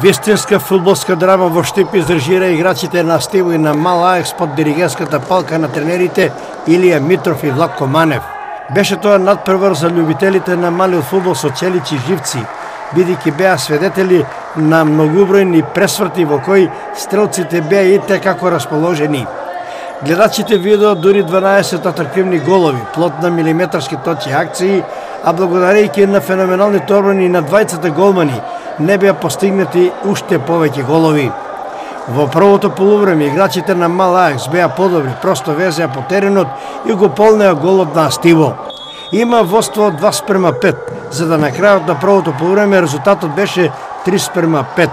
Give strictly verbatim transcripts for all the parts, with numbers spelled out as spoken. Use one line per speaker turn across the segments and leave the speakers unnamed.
Вистинска фудбалска драма во Штип издржира играчите на Стиво и на Мал Аекс под диригентската палка на тренерите Илија Митров и Владко Манев. Беше тоа надпревар за љубителите на малиот фудбал со челичи живци, бидејќи беа свидетели на многубројни пресврти во кои стрелците беа и те како расположени. Гледачите видоа дури дванаесет атрактивни голови, плод на милиметарски точни акции, а благодарејќи на феноменалните одбрани на двајцата голмани, не беа постигнати уште повеќе голови. Во првото полувреме играчите на Мал Аекс беа подобри, просто везеа по теренот и го полнеа голот на Стиво. Има водство два спрема пет, за да на крајот на првото полувреме резултатот беше три спрема пет.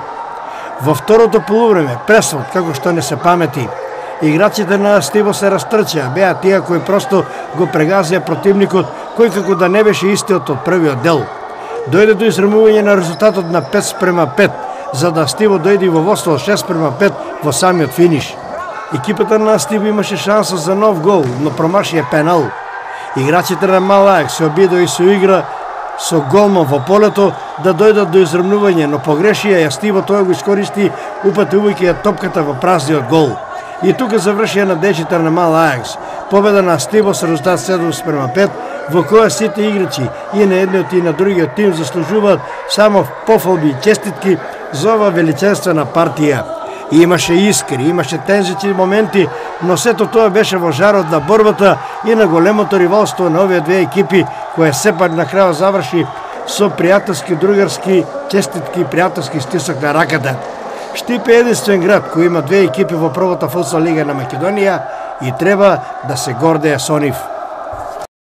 Во второто полувреме пресврт, како што не се памети. Играчите на Стиво се растрчаа, беа тие кои просто го прегазија противникот, кој како да не беше истиот од првиот дел. Дојде до израмување на резултатот на пет спрема пет, за да Стиво дојде во водство шест спрема пет во самиот финиш. Екипата на Стиво имаше шанса за нов гол, но промашија пенал. Играчите на Мал Аекс се обидоа и со игра со голман во полето да дојдат до израмнување, но погрешија и Стиво тоа го искористи, упатувајќи ја топката во празниот гол. И тука завршија надежите на Мал Аекс. Победа на Стиво со резултат седум спрема пет, во која сите играчи и на едниот и на другиот тим заслужуваат само пофалби и честитки за ова величествена партија. И имаше искри, имаше тензични моменти, но сето тоа беше во жарот на борбата и на големото ривалство на овие две екипи, која сепак на крајот заврши со пријателски, другарски, честитки, пријателски стисок на раката. Штип е единствен град кој има две екипи во првата футсал лига на Македонија и треба да се гордее со нив.